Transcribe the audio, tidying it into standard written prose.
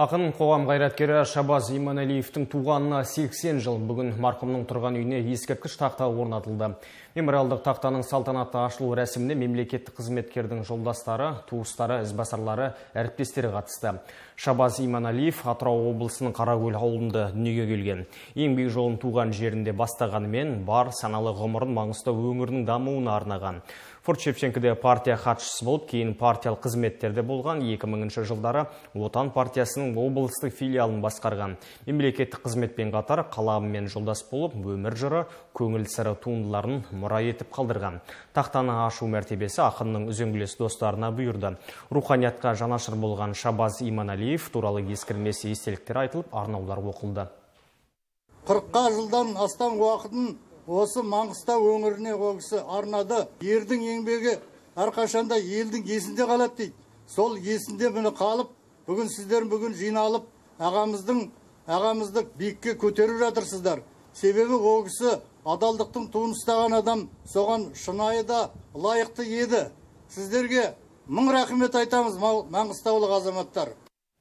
Ақын қоғам қайраткері Шабаз Иманалиевтің туғанына 80 жыл. Бүгін марқұмның тұрған үйіне ескерткіш тақта орнатылды. Мемориалдық тақтаның салтанатты ашылу рәсіміне мемлекеттік қызметкердің жолдастары, туыстары, ізбасарлары, әріптестері қатысты. Шабаз Иманалиев Атырау облысының Қаракөл ауылында дүниеге келген. Еңбек жолын туған жерінде бастағанымен бар саналы ғұмырын Маңғыстау өңірінің дамуына арнаған. Форт Шевченкоде партия хатшысы болып, кейін партиялық қызметтерде болған. 2000 жылдары Отан партиясының облыстық филиалын басқарған. Мемлекеттік қызметпен қатар қаламымен жолдас болып, өмір жыры, көңіл сыры туындыларын мұра етіп қалдырған. Тақтаны ашу мәртебесі ақынның үзеңгілес достарына бұйырды. Руханиятқа жанашыр болған Шабаз Иманалиев туралы ескермес естеліктер айтылып, арнаулар оқылды. 40 жылдан астам уақытын осы Маңғыстау өңіріне қоғысы арнады. Ердің еңбегі әрқашанда елдің есінде қалады дейді. Сол есінде бұны қалып, бүгін сіздер бүгін жиналып, ағамызды биікке көтеріп жатырсыздар. Себебі қоғысы адалдықтың туын ұстаған адам, соған шынайы да лайықты еді. Сіздерге мың рахмет айтамыз, маңғыстаулық азаматтар.